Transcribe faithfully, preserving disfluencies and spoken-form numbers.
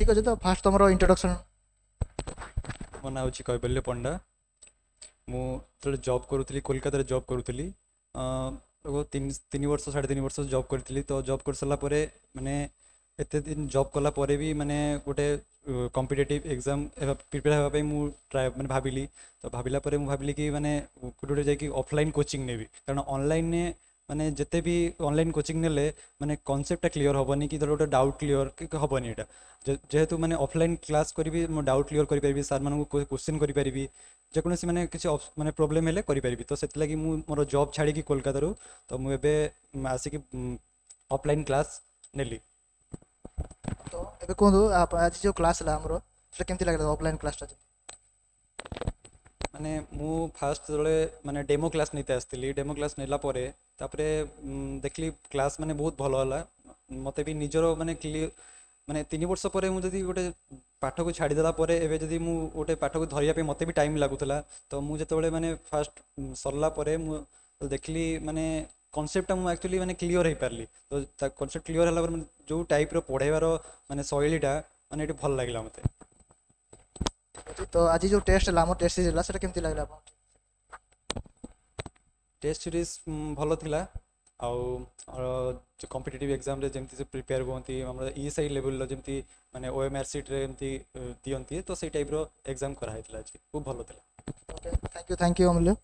ଠିକ୍ ଅଛି ତ ଫାଷ୍ଟ ତୁମର ଇଣ୍ଟ୍ରୋଡକ୍ସନ୍ ମୋ ନାଁ ହେଉଛି କୈବଲ୍ୟ ପଣ୍ଡା ମୁଁ ଯେତେବେଳେ ଜବ୍ କରୁଥିଲି କୋଲକାତାରେ ଜବ୍ କରୁଥିଲି ତିନି ତିନି ବର୍ଷ ସାଢ଼େ ତିନି ବର୍ଷ ଜବ୍ କରିଥିଲି ତ ଜବ୍ କରିସାରିଲା ପରେ ମାନେ ଏତେ ଦିନ ଜବ୍ କଲା ପରେ ବି ମାନେ ଗୋଟେ କମ୍ପିଟେଟିଭ୍ ଏକ୍ଜାମ୍ ହେବା ପ୍ରିପେୟାର ହେବା ପାଇଁ ମୁଁ ଟ୍ରାଏ ମାନେ ଭାବିଲି ତ ଭାବିଲା ପରେ ମୁଁ ଭାବିଲି କି ମାନେ କୋଉଠି ଗୋଟେ ଯାଇକି ଅଫଲାଇନ୍ କୋଚିଂ ନେବି କାରଣ ଅନଲାଇନ୍ରେ ମାନେ ଯେତେ ବି ଅନଲାଇନ୍ କୋଚିଂ ନେଲେ ମାନେ କନସେପ୍ଟଟା କ୍ଲିୟର ହେବନି କି ଧର ଗୋଟେ ଡାଉଟ୍ କ୍ଲିୟର ହେବନି ଏଇଟା ଯେହେତୁ ମାନେ ଅଫଲାଇନ୍ କ୍ଲାସ୍ କରିବି ମୋ ଡାଉଟ୍ କ୍ଲିୟର କରିପାରିବି ସାର୍ମାନଙ୍କୁ କୋଶ୍ଚିନ୍ କରିପାରିବି ଯେକୌଣସି ମାନେ କିଛି ମାନେ ପ୍ରୋବ୍ଲେମ୍ ହେଲେ କରିପାରିବି ତ ସେଥିଲାଗି ମୁଁ ମୋର ଜବ୍ ଛାଡ଼ିକି କୋଲକାତାରୁ ତ ମୁଁ ଏବେ ଆସିକି ଅଫଲାଇନ୍ କ୍ଲାସ୍ ନେଲି ତ ଏବେ କୁହନ୍ତୁ ଆଜି ଯେଉଁ କ୍ଲାସ୍ ହେଲା ଆମର ସେଟା କେମିତି ଲାଗିଲା ଅଫଲାଇନ୍ କ୍ଲାସ୍ଟା ମାନେ ମୁଁ ଫାଷ୍ଟ ଯେତେବେଳେ ମାନେ ଡେମୋ କ୍ଲାସ୍ ନେଇତେ ଆସିଥିଲି ଡେମୋ କ୍ଲାସ୍ ନେଲା ପରେ ତାପରେ ଦେଖିଲି କ୍ଲାସ୍ ମାନେ ବହୁତ ଭଲ ହେଲା ମୋତେ ବି ନିଜର ମାନେ କ୍ଲିୟର ମାନେ ତିନି ବର୍ଷ ପରେ ମୁଁ ଯଦି ଗୋଟେ ପାଠକୁ ଛାଡ଼ିଦେଲା ପରେ ଏବେ ଯଦି ମୁଁ ଗୋଟେ ପାଠକୁ ଧରିବା ପାଇଁ ମୋତେ ବି ଟାଇମ୍ ଲାଗୁଥିଲା ତ ମୁଁ ଯେତେବେଳେ ମାନେ ଫାଷ୍ଟ ସରିଲା ପରେ ମୁଁ ଦେଖିଲି ମାନେ କନସେପ୍ଟଟା ମୁଁ ଆକ୍ଚୁଆଲି ମାନେ କ୍ଲିୟର ହେଇପାରିଲି ତ ତା କନସେପ୍ଟ କ୍ଲିୟର ହେଲା ପରେ ଯେଉଁ ଟାଇପ୍ର ପଢ଼େଇବାର ମାନେ ଶୈଳୀଟା ମାନେ ଏଠି ଭଲ ଲାଗିଲା ମୋତେ ଠିକ୍ ଅଛି ତ ଆଜି ଯେଉଁ ଟେଷ୍ଟ ହେଲା ଆମର ଟେଷ୍ଟ ସିରିଜ୍ ହେଲା ସେଟା କେମିତି ଲାଗିଲା ଆପଣଙ୍କୁ ଟେଷ୍ଟ ସିରିଜ୍ ଭଲ ଥିଲା ଆଉ କମ୍ପିଟେଟିଭ୍ ଏକ୍ଜାମ୍ରେ ଯେମିତି ସେ ପ୍ରିପେୟାର ହୁଅନ୍ତି ଆମର ଇ ଏସ୍ I ଲେଭେଲର ଯେମିତି ମାନେ ଓ ଏମ୍ ଆର୍ ସିଟ୍ରେ ଏମିତି ଦିଅନ୍ତି ତ ସେଇ ଟାଇପ୍ର ଏକ୍ଜାମ୍ କରାହେଇଥିଲା ଆଜି ଖୁବ୍ ଭଲ ଥିଲା Okay thank you thank you Amulya